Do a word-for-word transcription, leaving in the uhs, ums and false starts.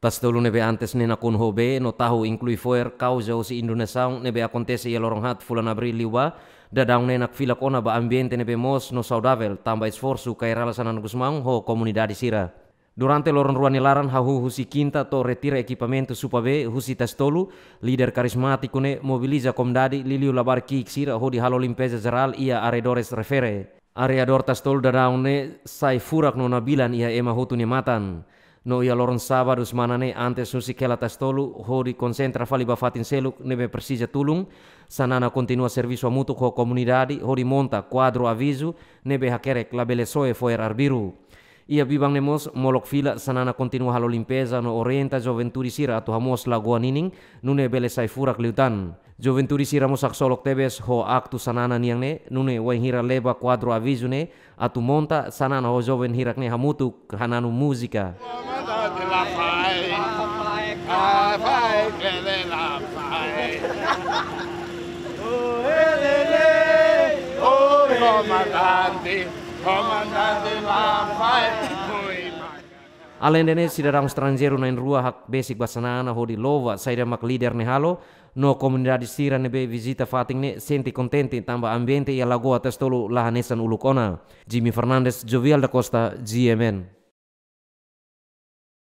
Tas tolu ne'ebé antes ne'e nakonu ho bee no tahu inklui fo'er kauza husi inundasaun ne'ebé akontese iha loron haat fulan Abríl liubá, daudaun ne'e nakfilak ona ba ambiente ne'ebé moos no saudavel, tanba esforsu Kay Rala Xanana Gusmão ho komunidade sira. Durante loron rua nia laran hahú husi kinta to'o retira ekipamentu supa bee husi Tas tolu, líder karizmátiku ne'e mobiliza komunidade liuliu labarik ki'ik sira hodi halo limpeza jerál iha arredores refere. Arredór Tas tolu daudaun ne'e sai furak no nabilan iha ema hotu nia matan. No iha loron sábadu semana ne'e antes husik hela Tas tolu hodi konsentra fali ba fatin seluk ne'ebé presiza tulun, Xanana kontinua servisu hamutuk ho komunidade hodi monta kuadru avizu ne'ebé hakerek labele soe fo'er arbiru. Iha biban ne'e mós molok fila Xanana kontinua halo limpeza no orienta juventude sira atu hamoos lagoa ninin, nune'e bele sai furak liután. Juventude sira mós haksolok tebes ho aktu Xanana nian ne'e, nune'e wainhira leba kuadru avizu ne'e atu monta, Xanana ho joven hirak ne'e hamutuk hananu múzika. Komandante, komandante, la fai. Aleinde ne'e, sidadaun estranjeiru na'in-rua hakbesik ba Xanana hodi louva saida mak líder ne'e halo, no komunidade sira ne'ebé vizita fatin ne'e sente kontente tanba ambiente iha lagoa Tas tolu la hanesan uluk ona. Jimmy Fernandes, Jovial da Costa, G M N.